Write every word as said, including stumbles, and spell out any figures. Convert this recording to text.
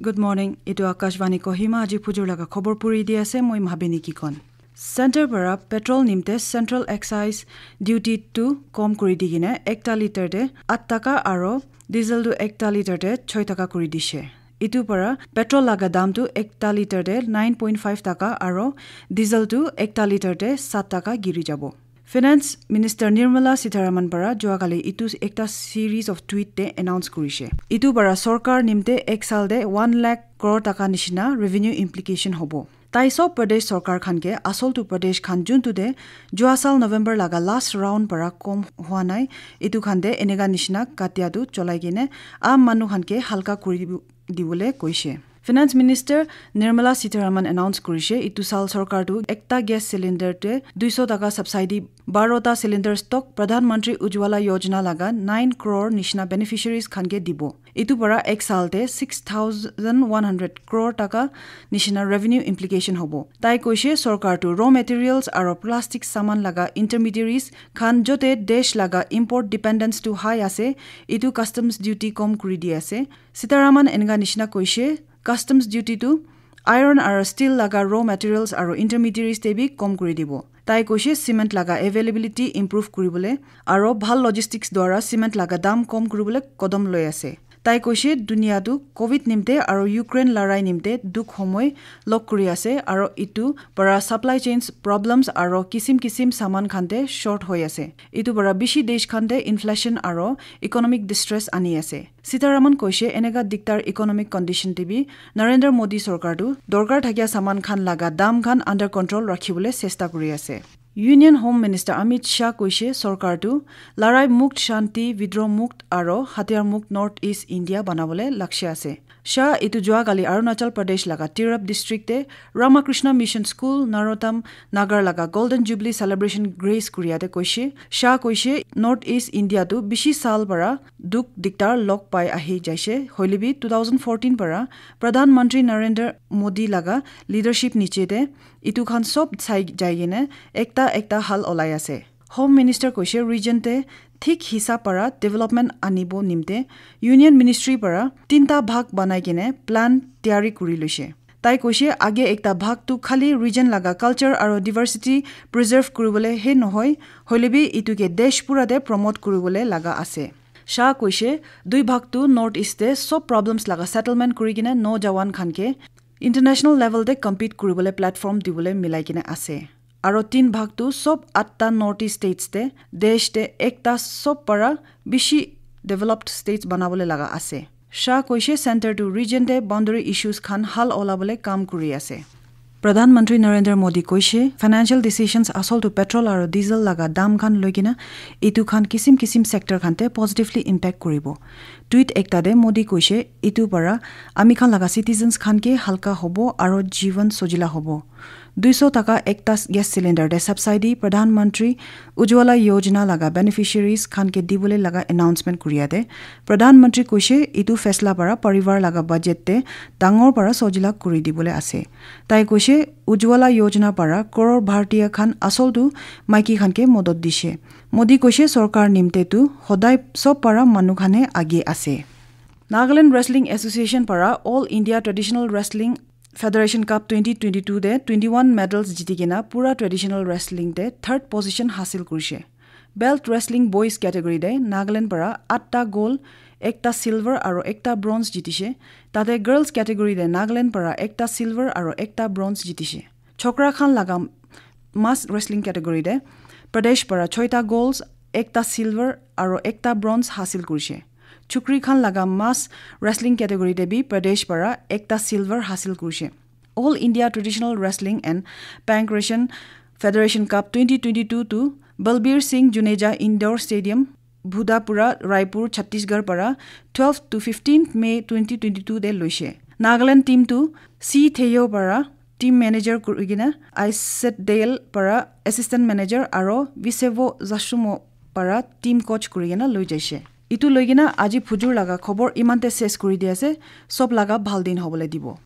Good morning. Etu Akashvani Kohima, aji phujur laga khobor puri di ase, moi Mahabini Kikon. Center para petrol nimte Central Excise Duty tu kom kuri di kene ekta liter te at taka aro diesel tu ekta liter te choi taka kuri dishe. Itu para petrol laga dam tu ekta liter te nine point five taka aro diesel tu ekta liter te sat taka giri jabo. Finance Minister Nirmala Sitharaman para juakali itu ekta series of tweet te announce kurishe. Itu para sorkar nimte ek sal te one lakh crore taka nishina revenue implication hobo. Tai sob Pradesh sorkar khan ke asol tu Pradesh khan juntu te jua sal November laga last round para kom hua nai, itu khan te eneka nishina katia tu cholai kene aam manu khan ke halka kuri dibo-, dibole koishe. Finance Minister Nirmala Sitharaman announce kurishe, itu sal sorkar tu ekta gas cylinder te duiso taka subsidy, baro ta cylinder stock Pradhan Mantri Ujjwala Yojana laga nine crore nishina beneficiaries khan ke dibo. Itu para ek sal te six thousand one hundred crore taka nishina revenue implication hobo. Tai koishe sorkar tu raw materials aro plastic saman laga intermediaries khan jote desh laga import dependence tu high ase, itu customs duty kom kuri di ase. Sitharaman eneka nishina koishe, customs duty tu iron aro steel laga raw materials aro intermediaries te bi kom kuri dibo. Tai koishe cement laga availability improve kuribole aro bhal logistics dwara cement laga dam kom kuribole kodom loi ase. Tai koishe dunia tu covid nimte aro Ukraine larai nimte dukh homoi log kuri ase aro itu para supply chains problems aro kisim kisim saman khan te short hoi ase. Itu para bishi desh khan te inflation aro economic distress ani ase. Sitharaman koishe eneka diktar economic condition te bi Narendra Modi sorkar tu dorkar thakia saman khan laga dam khan under control rakhibole chesta kuri ase. Union Home Minister Amit Shah koishe sorkar tu larai mukt, shanti, vidroh mukt aro hatiyar mukt North East India banabole lakshya ase. Shah itu juakali Arunachal Pradesh laga Tirap district te Ramakrishna Mission School Narottam Nagar laga Golden Jubilee celebration grace kuriya te koishe. Shah koishe North East India tu bishi sal para dukh diktar log pai ahi jaishe. Hoile bi two thousand fourteen para Pradhan Mantri Narendra Modi laga leadership niche te itu khan sob sai jai kene ekta ekta hal olai ase. Home Minister koishe region te thik hisab para development anibo nimte Union Ministry para tinta bhag banai kene plan tiyari kuri loishe. Tai koishe age ekta bhag tu khali region laga culture aro diversity preserve kuribole he nohoi, hoile bi itu ke desh pura te promote kuribole laga ase. Shah koishe dui bhag tu North East te sob problems laga settlement kuri kene nojawan khan ke international level te compete kuribole platform dibole milai kene ase. Aro tin bhag tu sob atta North East states te desh te ekta sob para bishi developed states banabole laga ase. Shah koishe center tu region te boundary issues khan hal olabole kam kuri ase. Pradhan Mantri Narendra Modi koishe financial decisions asol tu petrol aro diesel laga dam khan loi kena itu khan kisim kisim sector khan te positively impact kuribo. Tweet ekta te Modi koishe itu para ami khan laga citizens khan ke halka hobo aro jivan sojila hobo. Duiso taka ekta gas cylinder te subsidy Pradhan Mantri Ujjwala Yojana laga beneficiaries khan ke dibole laga announcement kuriya te Pradhan Mantri koishe itu fesla para parivar laga budget te dangor para sojila kuri dibole ase. Tai koishe Ujjwala Yojana para crore Bharatiya khan asol tu maiki khan ke modot dishe. Modi koishe sorkar nimte tu hodai sob para manu khane age ase. Nagaland Wrestling Association para All India Traditional Wrestling Federation Cup twenty twenty-two te twenty-one medals jiti kena pura traditional wrestling te third position hasil kurishe. Belt wrestling boys category te Nagaland para atta gold, ekta silver aro ekta bronze jitishe. Tate girls category te Nagaland para ekta silver aro ekta bronze jitishe. Chokra khan laga mass wrestling category te Pradesh para choita golds, ekta silver aro ekta bronze hasil kurishe. Chukri khan laga mass wrestling category te bi Pradesh para ekta silver hasil kurishe. All India Traditional Wrestling and Pankration Federation Cup twenty twenty-two tu Balbir Singh Juneja Indoor Stadium, Bhudapura, Raipur, Chhattisgarh para twelve to fifteen May twenty twenty-two te loishe. Nagaland team tu C Theyo para team manager kurigena, Iset Dale para assistant manager aro Visevo Zasumo para team coach kurigena loi jaishe. Itu loigena aji phujur laga khobor imante ses kuri di ase, sob laga bhal din hobole dibo.